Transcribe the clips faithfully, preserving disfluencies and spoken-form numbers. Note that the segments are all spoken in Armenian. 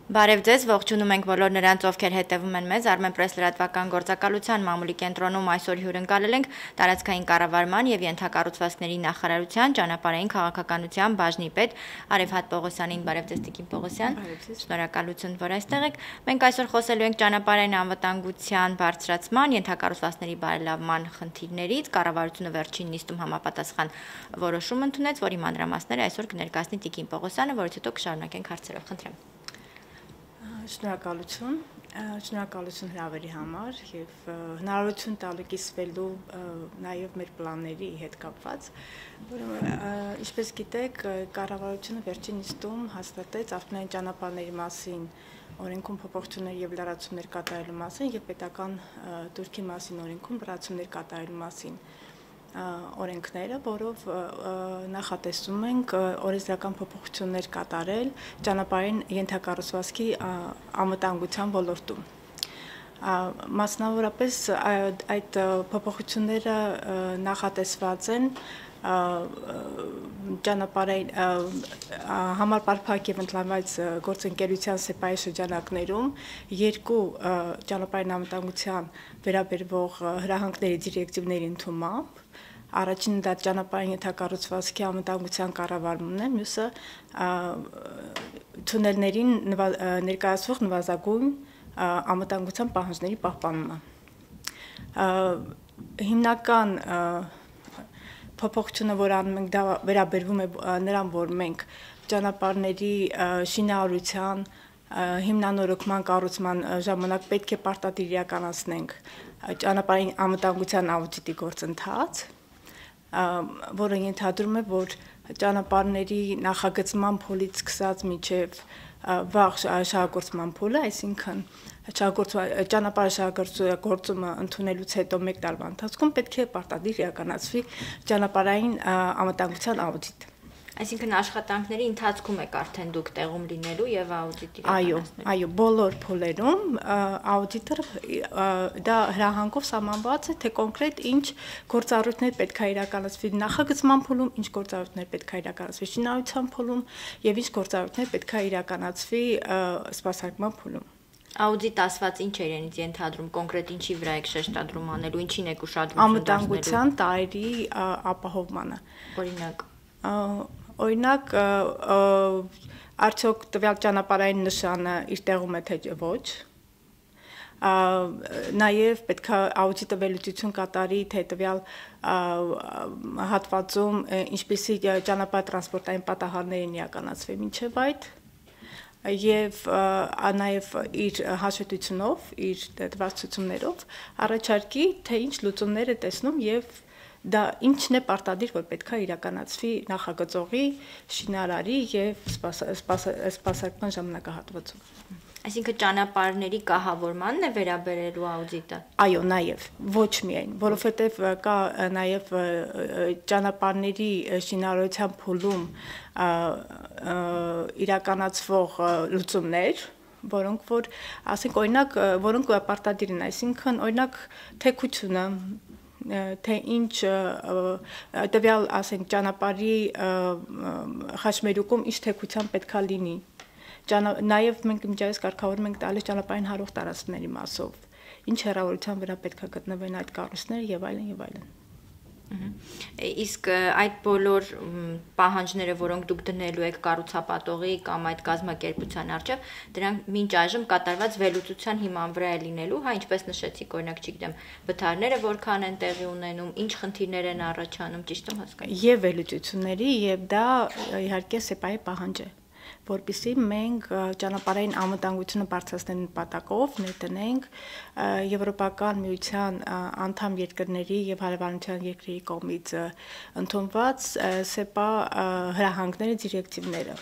Բարև ձեզ, ողջունում ենք բոլոր նրանց, ովքեր հետևում են մեզ Armenpress լրատվական գործակալության մամուլի կենտրոնում այսօր հյուրընկալել ենք տարածքային կառավարման եւ ենթակառուցվածքների նախարարության ճանապարհային քաղաքականության բաժնի պետ Արևհատ Պողոսյանին։ Բարև ձեզ, Տիկին Պողոսյան։ Շնորհակալություն, որ այստեղ եք։ Մենք այսօր խոսելու ենք ճանապարհային անվտանգության բարձրացման, ենթակառուցվածքների բարելավման խնդիրներից։ Կառավարությունը վերջին նիստում համապատասխան որոշում ընդունեց, որի մանրամասները այսօր կներկայացնի Տիկին Պողոսյանը, որից հետո կշարունակենք հարցերով։ Խնդրեմ։ Շնորհակալություն, շնորհակալություն հրավերի համար եւ հնարավորություն տալու կիսվելու նաեւ մեր պլանների հետ կապված, որը ինչպես գիտեք, կառավարությունը վերջին նիստում հաստատեց ավտոմобильային ճանապարհների մասին օրենքում փոփոխություններ եւ լրացումներ կատարելու մասին եւ պետական դուրքի մասին օրենքում լրացումներ կատարելու մասին օրենքները, որով նախատեսում ենք օրենսդրական փոփոխություններ կատարել ճանապարհային ենթակառուցվածքի անվտանգության ոլորտում։ Մասնավորապես այդ փոփոխությունները նախատեսված են ճանապարհային համար պարփակ եւ ընդլայնված գործընկերության սեպայի շրջանակներում երկու ճանապարհային անվտանգության վերաբերվող հրահանգների դիրեկտիվների ընդունմամբ առաջինը դա ճանապարհային ենթակառուցվածքի անվտանգության կառավարումն է, մյուսը թունելներին ներկայացվող նվազագույն անվտանգության պահանջների պահպանումը։ Հիմնական փոփոխությունը, որ անում ենք, դա վերաբերվում է նրան, որ մենք ճանապարհների շինարարության հիմնանորոգման կառուցման ժամանակ պետք է պարտադիր իրականացնենք ճանապարհային անվտանգության աուդիտի գործընթաց, որը ենթադրում է, որ ճանապարհների նախագծման փուլից սկսած մինչև վաղ շահագործման փուլը, այսինքն ճանապարհ շահագործումը ընդունելուց հետո մեկ տարվա ընթացքում պետք է պարտադիր իրականացվի ճանապարհային անվտանգության աուդիտ։ Այսինքն աշխատանքների ընթացքում եք արդեն դուք տեղում լինելու եւ աուդիտ իրականացնելու։ Այո, այո, բոլոր փուլերում աուդիտը դա հրահանգով սահմանված է, թե կոնկրետ ինչ գործառույթներ պետք է իրականացվի նախագծման փուլում, ինչ գործառույթներ պետք է իրականացվի շինարարության փուլում եւ ինչ գործառույթներ պետք է իրականացվի սպասարկման փուլում։ Աուդիտ ասված ինչ է իրենից ենթադրում, կոնկրետ ինչի վրա եք շեշտադրում անելու, ինչին եք ուշադրություն դարձնելու։ Անվտանգության տարրերի ապահովմանը։ Օրինակ Օրինակ, արդյոք տվյալ ճանապարհային նշանը իր տեղում է թե ոչ, նաև պետք է աուդիտը վերլուծություն կատարի, թե տվյալ հատվածում ինչպիսի ճանապարհ տրանսպորտային պատահարներ են իրականացվել մինչև այդ, եւ նաև իր հաշվետվությունով, իր տված ցուցումներով առաջարկի, թե ինչ լուծումներ է տեսնում եւ դա ինչն է պարտադիր, որ պետք է իրականացվի նախագծողի, շինարարի եւ սպասարկման ժամանակահատվածում։ Այսինքն ճանապարհների կահավորմանն է վերաբերելու աուդիտը։ Այո, նաև, ոչ միայն, որովհետև կա նաև ճանապարհների շինարարության փուլում իրականացվող լուծումներ, որոնք որ, ասենք, օրինակ, որոնք պարտադիր են, այսինքն, օրինակ, թեքությունը, թե ինչ տվյալ, ասենք, ճանապարհի խաչմերուկում ինչ թեքության պետք է լինի։ Նաև մենք միջազգային կարգավորում ենք տալիս ճանապարհային հարող տարածքների մասով, ինչ հեռավորության վրա պետք է գտնվեն այդ կառույցները եւ այլն եւ այլն։ Իսկ այդ բոլոր պահանջները, որոնք դուք դնելու եք կառուցապատողի կամ այդ կազմակերպության առջև, դրանք մինչ այժմ կատարված վերլուծության հիման վրա է լինելու, հա, ինչպես նշեցիք, օրինակ, չգիտեմ, վթարները որքան են տեղի ունենում, ինչ խնդիրներ են առաջանում, ճիշտ եմ հասկանում։ Եվ վերլուծությունների, եւ դա իհարկե սեպայի պահանջ է, որպեսզի մենք ճանապարհային անվտանգությունը բարձրացնելու նպատակով ներդնենք Եվրոպական միության անդամ երկրների եւ հարևանության երկրների կողմից ընդունված սեպա հրահանգների դիրեկտիվները,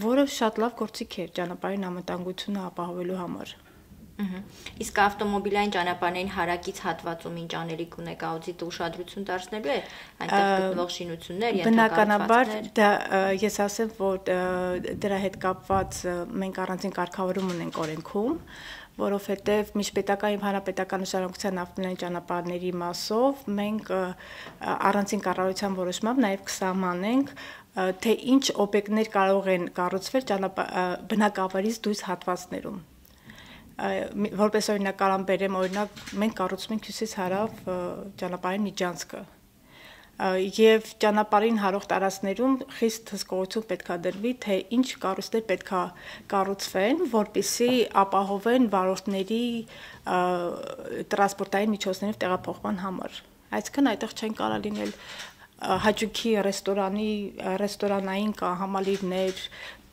որը շատ լավ գործիք է ճանապարհային անվտանգությունը ապահովելու համար։ Իսկ ավտոմոբիլային ճանապարհային հարակից հատվածում ինչ անելիք ունեք, աուդիտը ուշադրություն դարձնելու է այնտեղ գտնվող շինություններ, բնականաբար դա ես ասեմ, որ դրա հետ կապված մենք առանձին կարգավորում ունենք օրենքում, որովհետև միջպետական եւ հանրապետական նշանակության ավտոմոբիլային ճանապարհների մասով մենք առանձին կառավարության որոշմամբ նաեւ կսահմանենք թե ինչ օբյեկտներ կարող են կառուցվել բնակավայրից դուրս հատվածներում։ Որպես օրինակ կարամ բերեմ, օրինակ մենք կառուցում ենք հյուսիս հարավ ճանապարհային միջանցքը եւ ճանապարհին հարող տարածքներում խիստ հսկողություն պետքա դրվի, թե ինչ կառույցներ պետքա կառուցվեն, որպեսզի ապահովեն վարորդների տրանսպորտային միջոցներով տեղափոխման համար։ Այսինքն այդտեղ չեն կարող լինել հաճույքի ռեստորանի, ռեստորանային համալիրներ,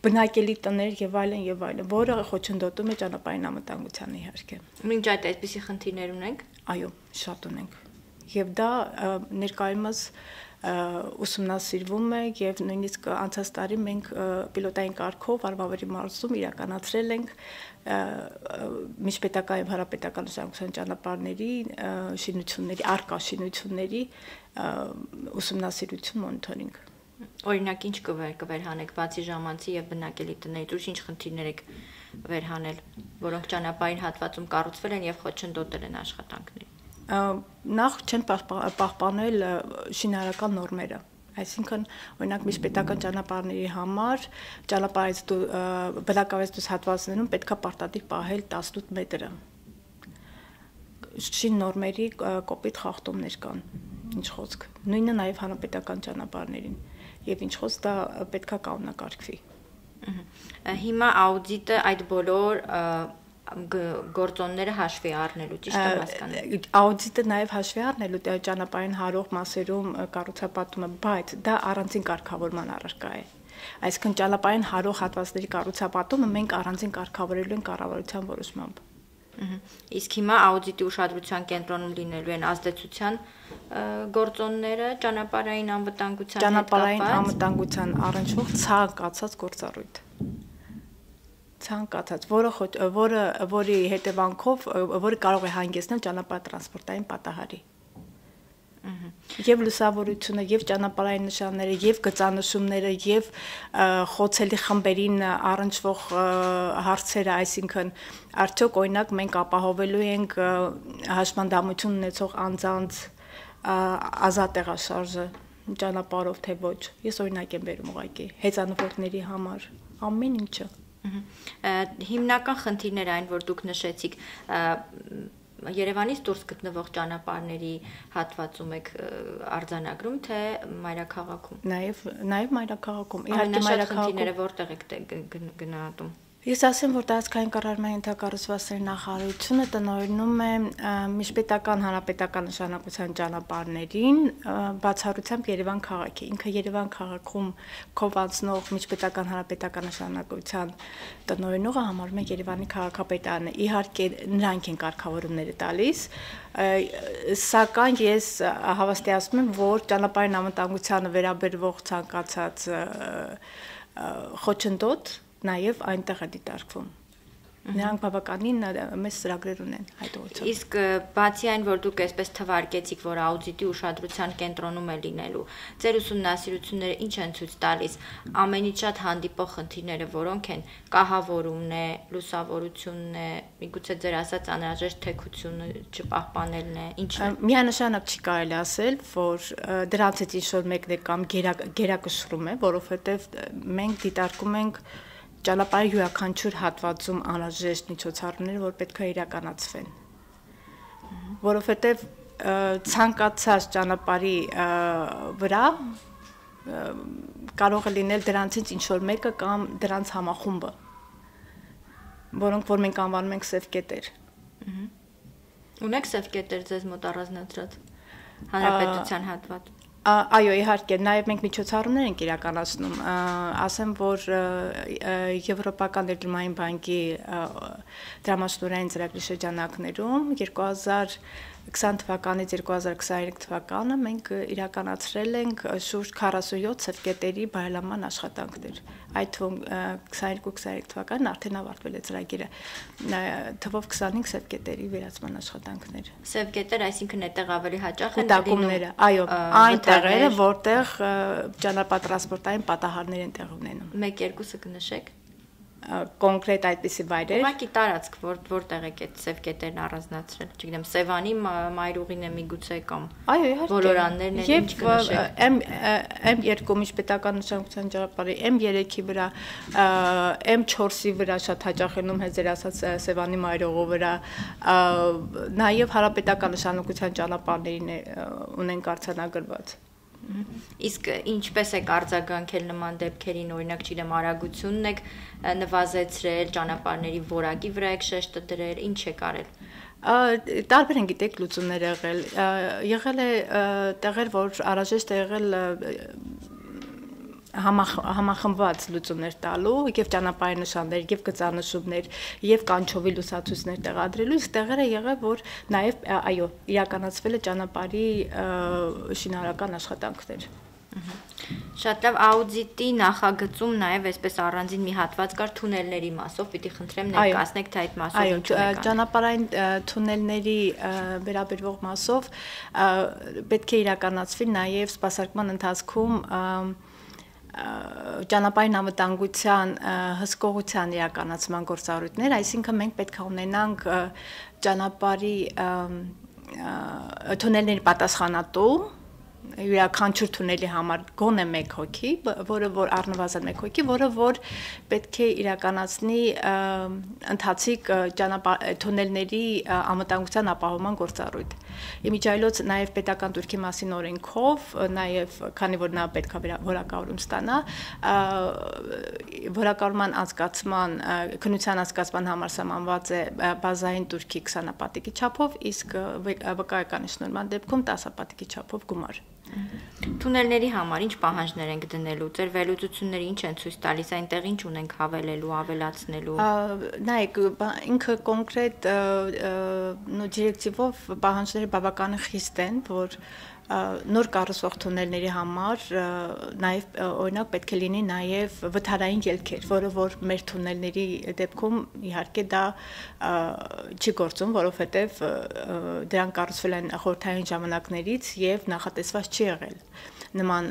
բնակելի տներ եւ այլն եւ այլն, որը խոչընդոտում է ճանապարհային անվտանգությանը իհարկե։ Մինչ այդ այսպիսի խնդիրներ ունենք։ Այո, շատ ունենք։ Եվ դա ներկայումս ուսումնասիրվում է եւ նույնիսկ անցած տարի մենք պիլոտային կարգով Արվավերի մարզում իրականացրել ենք միջպետական եւ հարաբերական նշանակության ճանապարհների շինությունների, արկա շինությունների ուսումնասիրություն մոնիթորինգ։ Օրինակ ինչ կվերհանեք բացի ժամանցի եւ բնակելի տներից, ուր ինչ խնդիրներ եք վերհանել, որոնք ճանապարհային հատվածում կառուցվել են եւ խոչընդոտել են աշխատանքներին։ Նախ չեն պահպանել շինարարական նորմերը, այսինքն օրինակ միջպետական ճանապարհների համար ճանապարհից բնակավայրից դուրս հատվածներում պետքա պարտադիր պահել տասնութ մետրը։ Շին նորմերի կոպիտ խախտումներ կան, ինչ խոսք։ Նույնը նաև հանրապետական ճանապարհներին, եւ ինչ խոսք դա պետքա կանոնակարգվի։ Հիմա աուդիտը այդ բոլոր գործոնները հաշվի առնելու, ճիշտ եմ հասկանում։ Աուդիտը նաև հաշվի առնելու ճանապարհային հարող մասերում կառուցապատումը, բայց դա առանձին կարգավորման առարկա է։ Այսինքն ճանապարհային հարող հատվածների կառուցապատումը մենք առանձին կարգավորելու ենք կառավարության որոշմամբ։ Իսկ հիմա աուդիտի ուշադրության կենտրոնում լինելու են ազդեցության գործոնները ճանապարհային անվտանգության հետ կապված։ Ճանապարհային անվտանգության առնչվող ցանկացած գործառույթ։ Ցանկացած, որը որը որի հետևանքով որը կարող է հանգեցնել ճանապարհատրանսպորտային պատահարի։ Եվ լուսավորությունը, եւ ճանապարհային նշանները, եւ գծանշումները, եւ խոցելի խմբերին առնչվող հարցերը, այսինքն արդյոք օրինակ մենք ապահովելու ենք հաշմանդամություն ունեցող անձանց ազատ տեղաշարժը ճանապարհով թե ոչ։ Ես օրինակ եմ բերում ուղղակի հեծանվորդների համար, ամեն ինչը։ Հիմնական խնդիրները այն, որ դուք նշեցիք, Երևանից դուրս գտնվող ճանապարհների հատվածում եք արձանագրում, թե մայրաքաղաքում։ Նաև նաև մայրաքաղաքում։ Իհարկե մայրաքաղաքում խնդիրները որտեղ եք գնահատում։ Ես ասեմ, որ տարածքային կառավարման ենթակառուցվածքների նախարարությունը տնօրինում է միջպետական հանրապետական նշանակության ճանապարհներին բացառությամբ Երևան քաղաքի։ Ինքը Երևան քաղաքում կողմնացնող միջպետական հանրապետական նշանակության տնօրինողը համարվում է Երևանի քաղաքապետարանը։ Իհարկե նրանք են կարգավորումները տալիս, սակայն ես հավաստիացնում եմ, որ ճանապարհային անվտանգությանը վերաբերվող ցանկացած խոչընդոտ նաև այնտեղ է դիտարկվում։ Նրանք բավականին մեծ ծրագրեր ունեն այդ ուղղությամբ։ Իսկ բացի այն, որ դուք այսպես թվարկեցիք, որ աուդիտի ուշադրության կենտրոնում է լինելու, ձեր ուսումնասիրությունները ինչ են ցույց տալիս, ամենից շատ հանդիպող խնդիրները որոնք են, կահավորումն է, լուսավորությունն է, միգուցե ձեր ասած անհրաժեշտ թեքությունը չպահպանելն է, ինչն է։ Միանշանակ չի կարելի ասել, որ դրանցից ինչ-որ մեկն է կամ գերակշռում է, որովհետև մենք դիտարկում ենք ճանապարհի յուրաքանչյուր հատվածում անհրաժեշտ միջոցառումները, որ պետք է իրականացվեն։ Որովհետև ցանկացած ճանապարհի վրա կարող է լինել դրանցից ինչ-որ մեկը կամ դրանց համախումբը, որոնք որ մենք անվանում ենք սև կետեր։ Ունեք սև կետեր ձեզ մոտ առանձնացրած հանրապետության հատված։ Այո, իհարկե, նաև մենք միջոցառումներ ենք իրականացնում, ասեմ, որ Եվրոպական ներդրումային բանկի դրամաշնորհային ծրագրի շրջանակներում երկու հազար քսան թվականից երկու հազար քսաներեք թվականը մենք իրականացրել ենք շուրջ քառասունյոթ սևկետերի բարելավման աշխատանքներ։ Այդ թվում քսաներեք քսաներեք թվականին արդեն ավարտվել է ծրագիրը, թվով քսանհինգ սևկետերի վերացման աշխատանքներ։ Սևկետեր, այսինքն այդտեղ ավելի հաճախ են դակումները, այո, այն տեղերը, որտեղ ճանապարհատրանսպորտային պատահարներ են տեղ ունենում։ Մեկ-երկուսը կնշեք։ կոնկրետ այդպիսի վայրեր։ Ուղղակի տարածք, որ որտեղ եք այդ սև կետերն առանձնացրել, չգիտեմ, Սևանի մայրուղին է միգուցե կամ այո, իհարկե։ Բոլորաններն են, ինչ կնշեք։ Եմ եմ երկու միջպետական նշանակության ճանապարհի էմ երեքի վրա, էմ չորսի վրա շատ հաճախ ենում հենց ձեր ասած Սևանի մայրուղու վրա, նաև հարաբետական նշանակության ճանապարհներին ունենք արձանագրված։ Իսկ ինչպես եք արձագանքել նման դեպքերին, օրինակ, չգիտեմ, արագությունն եք նվազեցրել, ճանապարհների որակի վրա եք շեշտը դրել, ինչ եք արել։ Տարբեր են գիտեք լուծումներ եղել։ Եղել է տեղեր, որ անհրաժեշտ է եղել համախմբված լուծումներ տալու եւ ճանապարհի նշաններ եւ գծանշումներ եւ կանչովի լուսացույցներ տեղադրելու, իսկ տեղերը եղել, որ նաեւ այո, իրականացվել է ճանապարհի շինարարական աշխատանքներ։ Շատ լավ, աուդիտի նախագծում նաև այսպես առանձին մի հատված կար թունելների մասով, պիտի խնդրեմ ներկայացնեք, թե այդ մասով ինչ ունեք։ Այո, ճանապարհային թունելների վերաբերող մասով պետք է իրականացվի նաև սպասարկման ընթացքում ճանապարհային անվտանգության հսկողության իրականացման գործառույթներ, այսինքն մենք պետք է ունենանք ճանապարհի թունելների պատասխանատու յուրաքանչյուր թունելի համար գոնե մեկ հոգի, որը որ առնվազն մեկ հոգի, որը որ պետք է իրականացնի ընթացիկ թունելների անվտանգության ապահովման գործառույթ։ Իմիջայլոց նաև պետական турքի մասին օրենքով, նաև քանի որ նա պետք է որակավորում ստանա, որակավորման անցկացման, քննության անցկացման համար սահմանված է բազային турքի քսան պատիկի չափով, իսկ վկայական շնորհման դեպքում տասը պատիկի չափով գումար։ Թունելների համար ինչ պահանջներ ենք դնելու, ձեր վերլուծությունները ինչ են ցույց տալիս, այնտեղ ինչ ունենք հավելելու, ավելացնելու։ Նայեք, ինքը կոնկրետ դիրեկտիվով պահանջները բավական խիստ են, որ նոր կառուցվող թունելների համար նաև օրինակ պետք է լինի նաև վթարային ելքեր, որը որ մեր թունելների դեպքում իհարկե դա չի գործում, որովհետև դրանք կառուցվել են խորհրդային ժամանակներից եւ նախատեսված չի եղել նման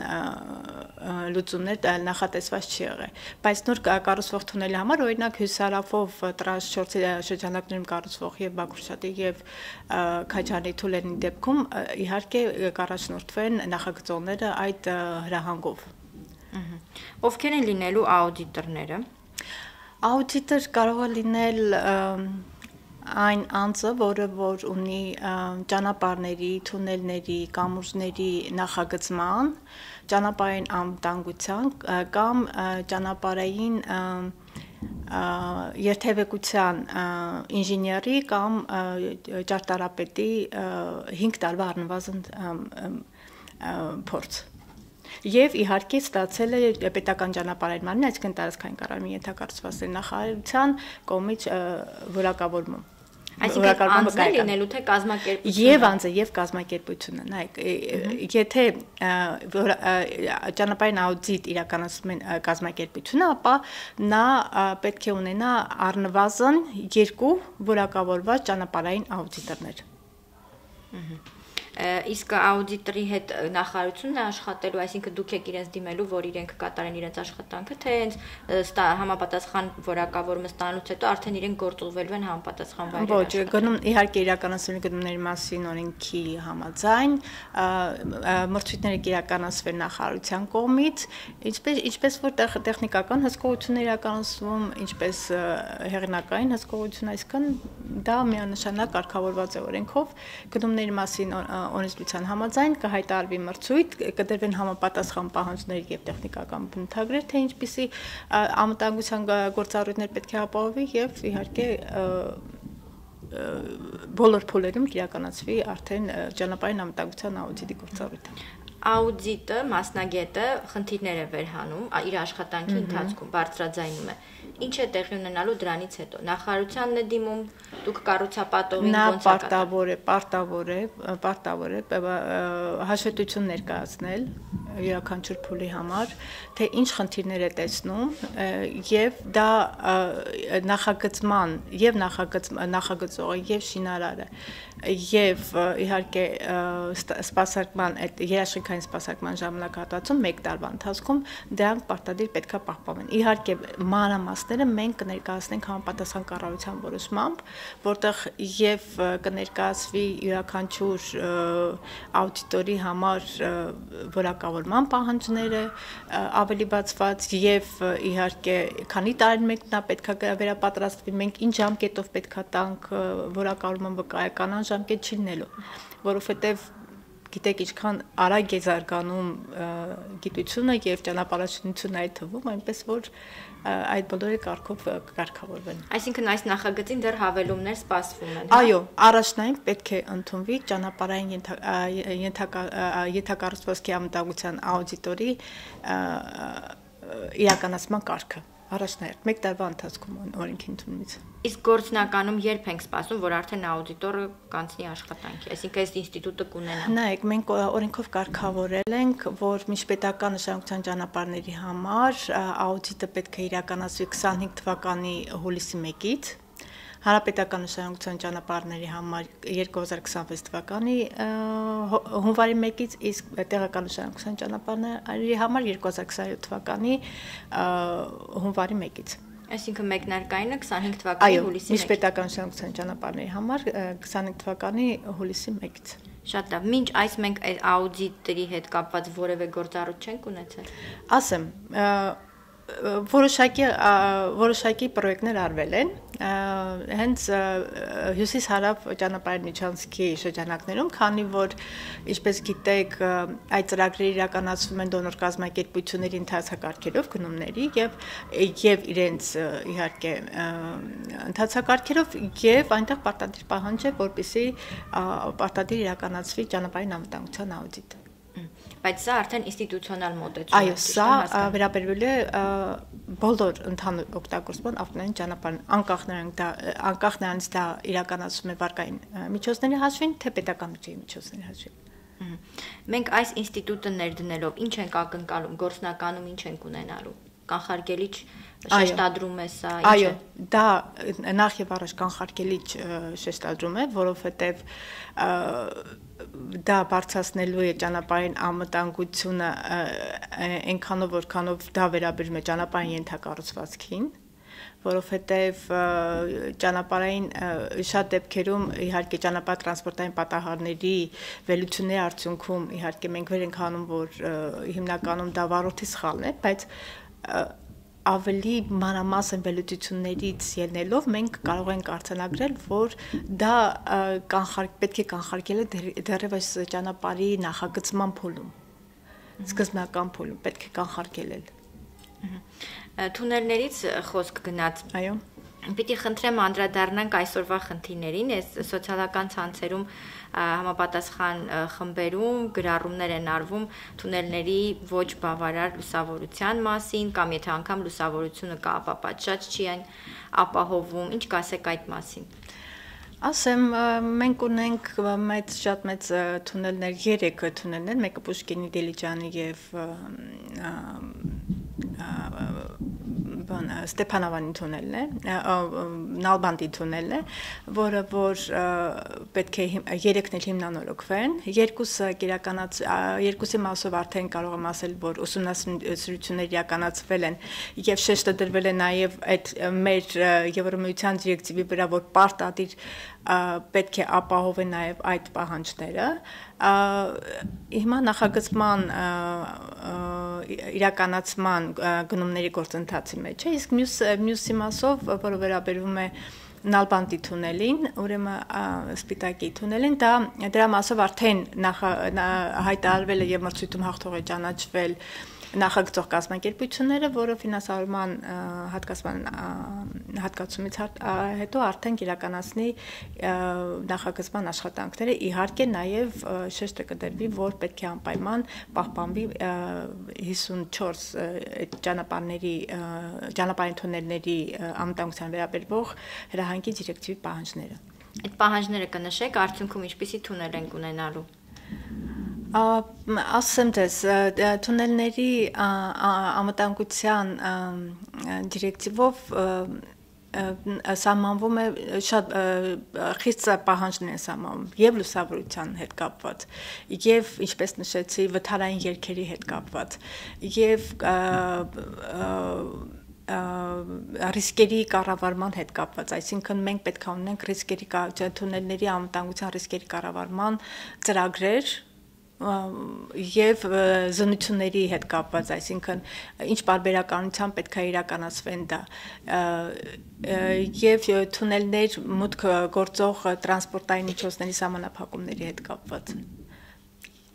լուծումներ նախատեսված չի եղել, բայց նոր կառուցվող թունելի համար օրինակ հյուսարավով տրանս չորսի շրջանակներում կառուցվող եւ Բաքուրշատի եւ Քաջարի թունելների դեպքում իհարկե կառաջնորդվեն նախագծողները այդ հրահանգով։ Ովքեր են լինելու աուդիտորները։ Աուդիտոր կարող է լինել այն անձը, որը որ ունի ճանապարհների, թունելների, կամուրջների նախագծման, ճանապարհային անվտանգության կամ ճանապարհային երթևեկության ինժեների կամ ճարտարապետի հինգ տարվա առնվազն փորձ։ Եվ իհարկե ստացել է պետական ճանապարհային մարմնի, այսինքն տարածքային կառավարման ենթակառուցվածքների նախարարության կողմից որակավորում։ Այսինքն անձը լինելու թե կազմակերպությունը։ Եվ անձը եւ կազմակերպությունը, նայեք, եթե ճանապարհային աուդիտ իրականացնում են կազմակերպությունը, ապա նա պետք է ունենա առնվազն երկու որակավորված ճանապարհային աուդիտորներ։ Իսկ աուդիտորի հետ նախարարությունն է աշխատելու, այսինքն դուք եք իրենց դիմելու, որ իրենք կատարեն իրենց աշխատանքը, թե հենց համապատասխան որակավորումը ստանալուց հետո արդեն իրենք գործուղվելու են համապատասխան վայրեր։ Ոչ, գնում իհարկե իրականացվելու գնումների մասին օրենքի համաձայն, մրցույթները կիրականացվեն նախարարության կողմից, ինչպես ինչպես որ տեխնիկական հսկողություններ իրականացվում, ինչպես հեղինակային հսկողություն, այսինքն դա միանշանակ կարգավորված է օրենքով, գնումների մասին օրենսդրության համաձայն կհայտարարվի մրցույթ, կդրվեն համապատասխան պահանջներ եւ տեխնիկական բնութագրեր, թե ինչպիսի անվտանգության գործառույթներ պետք է ապահովի եւ իհարկե բոլոր փուլերում իրականացվի արդեն ճանապարհային անվտանգության աուդիտի գործառույթը։ Աուդիտը, մասնագետը խնդիրներ է վերհանում իր աշխատանքի ընթացքում, բարձրաձայնում է։ Ինչ է տեղի ունենալու դրանից հետո։ Նախարարությանն է դիմում, դուք կառուցապատողին ոնց է կատարում։ Նա պարտավոր է, պարտավոր է, պարտավոր է հաշվետվություն ներկայացնել յուրաքանչյուր փուլի համար, թե ինչ խնդիրներ է տեսնում եւ դա նախագծման եւ նախագծողը եւ շինարարը եւ իհարկե սպասարկման այդ երաշխիքային սպասարկման ժամանակահատվածում մեկ տարվա ընթացքում դրանք պարտադիր պետքա պահպանվեն։ Իհարկե մանրամասները մենք կներկայացնենք համապատասխան կառավարության որոշմամբ, որտեղ եւ կներկայացվի յուրաքանչյուր աուդիտորի համար որակավորման պահանջները ավելի բացված եւ իհարկե քանի տարին մեկ նա պետքա վերապատրաստվի, մենք ինչ ժամկետով պետքա տանք որակավորման վկայականան ժամկետ չի լինելու, որովհետեւ գիտեք ինչքան արագ է զարգանում գիտությունը եւ ճանապարհաշինությունը այդ թվում, այնպես որ այդ բոլորի կարգով կարգավորվեն։ Այսինքն այս նախագծին դեռ հավելումներ սպասվում են։ Այո, առաջնային պետք է ընդունվի ճանապարհային ենթակառուցվածքի անվտանգության աուդիտորի իրականացման կարգը։ Առաջնահերթ մեկ տարվա ընթացքում օրենքի ընդունումից։ Իսկ գործնականում երբ ենք սպասում, որ արդեն աուդիտորը կանցնի աշխատանքի, այսինքն այս ինստիտուտը կունենա։ Նայեք, մենք օրենքով կարգավորել ենք, որ միջպետական նշանակության ճանապարհների համար աուդիտը պետք է իրականացվի քսանհինգ թվականի հուլիսի մեկից, հանրապետական նշանակության ճանապարհների համար երկու հազար քսանվեց թվականի հունվարի մեկից, իսկ տեղական նշանակության ճանապարհների համար երկու հազար քսանյոթ թվականի հունվարի մեկից։ Այսինքն մեկնարկայինը քսանհինգ թվականի հուլիսի մեկից։ Միջպետական նշանակության ճանապարհների համար քսանհինգ թվականի հուլիսի մեկից։ Շատ լավ։ Մինչ այս մենք աուդիտների հետ կապված որևէ գործառույթ չենք ունեցել։ Ասեմ, որոշակի որոշակի պրոյեկտներ արվել են հենց հյուսիս-հարավ ճանապարհային միջանցքի շրջանակներում, քանի որ ինչպես գիտեք, այդ ծրագրերը իրականացվում են դոնոր կազմակերպությունների ընթացակարգերով գնումների եւ եւ իրենց իհարկե ընթացակարգերով եւ այնտեղ պարտադիր պահանջ է, որպեսզի պարտադիր իրականացվի ճանապարհային անվտանգության աուդիտ։ Բայց սա արդեն ինստիտուցիոնալ մոտեցում է։ Այո, սա վերաբերվել է բոլոր ընդհանուր օգտագործման ավտոմобильային ճանապարհին, անկախ նրանից դա անկախ նրանից դա իրականացվում է վարկային միջոցների հաշվին, թե պետական բյուջեի միջոցների հաշվին։ Մենք այս ինստիտուտը ներդնելով ինչ ենք ակնկալում, գործնականում ինչ ենք ունենալու։ Կանխարգելիչ շեշտադրում է սա, ինչ է։ Այո, դա նախ եւ առաջ կանխարգելիչ շեշտադրում է, որովհետեւ դա բարձրացնելու է ճանապարհային անվտանգությունը այնքանով, որքանով դա վերաբերում է ճանապարհային ենթակառուցվածքին, որովհետև ճանապարհային շատ դեպքերում իհարկե ճանապարհ տրանսպորտային պատահարների վերլուծությունների արդյունքում իհարկե մենք վեր ենք հանում, որ հիմնականում դա վարորդի սխալն է, բայց ավելի մանրամասն վերլուծություններից ելնելով մենք կարող ենք արձանագրել, որ դա պետք է կանխարգելել դեռևս ճանապարհի նախագծման փուլում, սկզբնական փուլում պետք է կանխարգելել։ Թունելներից խոսք գնաց։ Այո։ Պիտի խնդրեմ անդրադառնանք այսօրվա խնդիրներին, այս սոցիալական ցանցերում համապատասխան խմբերում գրառումներ են արվում թունելների ոչ բավարար լուսավորության մասին, կամ եթե անգամ լուսավորությունը կա, ապա պատշաճ չի այն ապահովում, ինչ կասեք այդ մասին։ Ասեմ, մենք ունենք մեծ շատ մեծ թունելներ, երեք թունելներ, մեկը Պուշկինի, Դիլիջանի եւ Ստեփանավանի թունելն է, Նալբանդի թունելն է, որը որ պետք է երեքն էլ հիմնանորոգվեն, երկուսը իրականաց երկուսի մասով արդեն կարող եմ ասել, որ ուսումնասիրություններ իրականացվել են եւ շեշտը դրվել է նաեւ այդ մեր Եվրոմիության դիրեկտիվի վրա, որ պարտադիր պետք է ապահովեն նաեւ այդ պահանջները։ Հիմա նախագծման իրականացման գնումների գործընթացի մեջ է, իսկ մյուս մյուսի մասով, որը վերաբերվում է Նալբանդի թունելին, ուրեմն Սպիտակի թունելին, դա դրա մասով արդեն հայտարարվել է եւ մրցույթում հաղթող է ճանաչվել նախագծող կազմակերպությունները, որը ֆինանսավորման հատկացման հատկացումից հետո արդեն իրականացնի նախագծման աշխատանքները, իհարկե նաև շեշտը կդրվի, որ պետք է անպայման պահպանվի հիսունչորս ճանապարհների ճանապարհային թունելների անվտանգության վերաբերող հրահանգի դիրեկտիվի պահանջները։ Այդ պահանջները կնշեք, արդյունքում ինչպիսի թունել ենք ունենալու։ Ասեմ ձեզ, թունելների անվտանգության դիրեկտիվով սահմանվում է շատ խիստ պահանջներ են սահմանվում եւ լուսավորության հետ կապված եւ ինչպես նշեցի վթարային երգերի հետ կապված եւ ռիսկերի կառավարման հետ կապված, այսինքն մենք պետք է ունենանք ռիսկերի թունելների անվտանգության ռիսկերի կառավարման ծրագրեր եւ զնությունների հետ կապված, այսինքն ինչ բարբերականությամբ պետք է իրականացվեն դա եւ թունելներ մուտք գործող տրանսպորտային միջոցների սահմանափակումների հետ կապված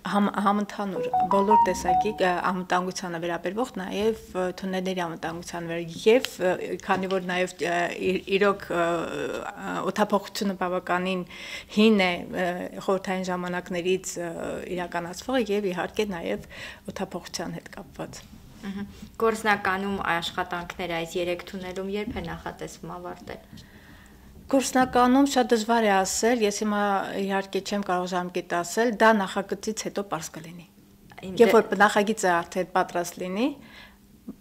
համընդհանուր բոլոր տեսակի անվտանգությանը վերաբերող նաև թունելների անվտանգությանը եւ քանի որ նաև իրոք օդափոխությունը բավականին հին է խորհրդային ժամանակներից իրականացվող եւ իհարկե նաև օդափոխության հետ կապված Գործնականում աշխատանքները այս երեք թունելում երբ է նախատեսվում ավարտել Գործնականում շատ դժվար է ասել, ես հիմա իհարկե չեմ կարող ժամկետ ասել, դա նախագծից հետո պարզ կլինի։ Երբ որ նախագիծը արդեն պատրաստ լինի,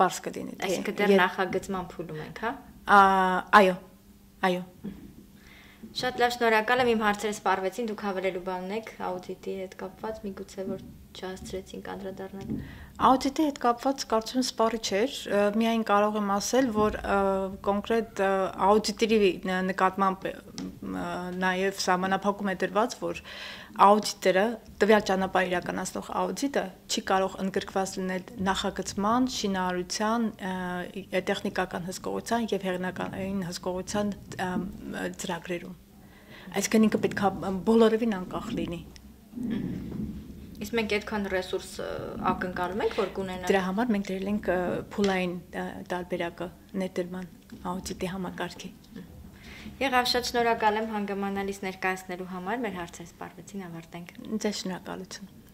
պարզ կլինի։ Այսինքն դեռ նախագծման փուլում ենք, հա։ Այո, այո։ Շատ լավ, շնորհակալ եմ, իմ հարցերը սպառվեցին, դուք հավելելու բան ունեք աուդիտի հետ կապված, միգուցե որ չհասցրեցինք անդրադառնալ։ Աուդիտի հետ կապված կարծում եմ սպառի չէր, միայն կարող եմ ասել, որ կոնկրետ աուդիտերի նկատմամբ նաև սահմանափակում է դրված, որ աուդիտերը, տվյալ ճանապարհ իրականացնող աուդիտը չի կարող ընդգրկված լինել նախագծման, շինարարության, տեխնիկական հսկողության եւ հեղինակային հսկողության ծրագրերում։ Այսինքն ինքը պետք է բոլորովին անկախ լինի։ Իսկ մենք այդքան ռեսուրս ակնկալում ենք, որ կունենանք։ Դրա համար մենք դրել ենք փուլային տարբերակը ներդրման աուդիտի համակարգի։ Եղավ, շատ շնորհակալ եմ հանգամանալից ներկայացնելու համար, մեր հարցերը սպառվեցին, ավարտենք։ Ձեզ շնորհակալություն։